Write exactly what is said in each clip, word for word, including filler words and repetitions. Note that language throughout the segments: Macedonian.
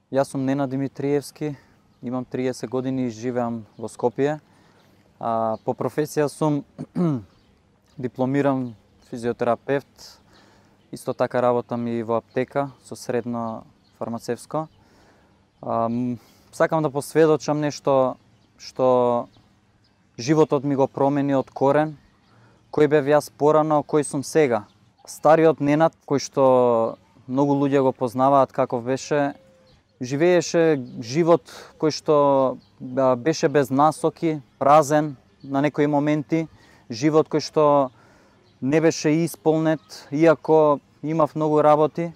Јас сум Ненад Димитриевски, имам триесет години и живеам во Скопје. А, по професија сум дипломиран физиотерапевт, исто така работам и во аптека со средно фармацевско. А, сакам да посведочам нешто што животот ми го промени од корен, кој бев јас порано, кој сум сега. Стариот Ненад, кој што многу луѓе го познаваат каков беше, живееше живот кој што беше без насоки, празен на некои моменти, живот кој што не беше исполнет, иако имав многу работи,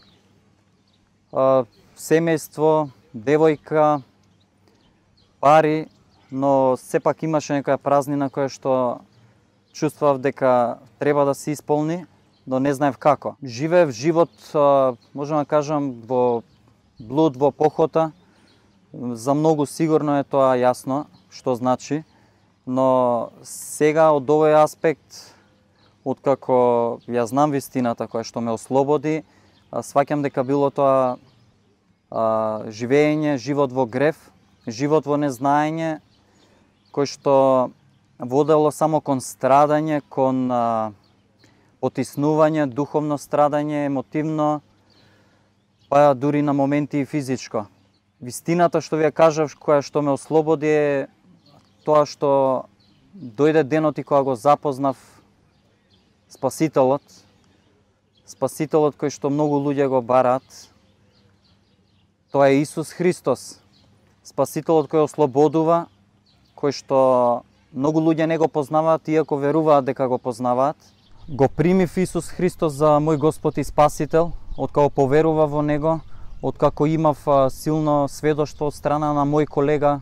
семејство, девојка, пари, но сепак имаше некоја празнина која што чувствував дека треба да се исполни, но не знаев како. Живеев живот, можам да кажам, во блуд, во похота. За многу сигурно е тоа јасно што значи, но сега од овој аспект, откако ја знам вистината која што ме ослободи, сваќам дека било тоа а, живење, живот во грев, живот во незнаење, кој што водело само кон страдање, кон а, потиснување, духовно страдање, емотивно, па дури на моменти и физичко. Вистината што ви ја кажав, која што ме ослободи е тоа што дојде денот и кога го запознав Спасителот, Спасителот кој што многу луѓе го бараат. Тоа е Исус Христос, Спасителот кој ослободува, кој што многу луѓе не го познаваат, иако веруваат дека го познаваат. Го примив Исус Христос за мој Господ и Спасител, откако поверува во Него, откако имав силно сведоштво од страна на мој колега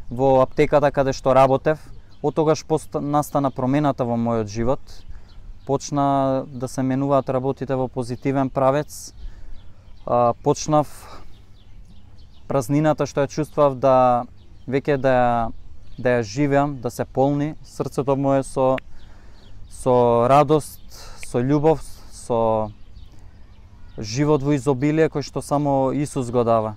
во аптеката каде што работев. Од тогаш настана промената во мојот живот. Почна да се менуваат работите во позитивен правец. Почнав празнината што ја чувствував да веќе да ја, да ја живеам, да се полни срцето мое со со радост, со љубов, со живот во изобилие кој што само Исус го дава.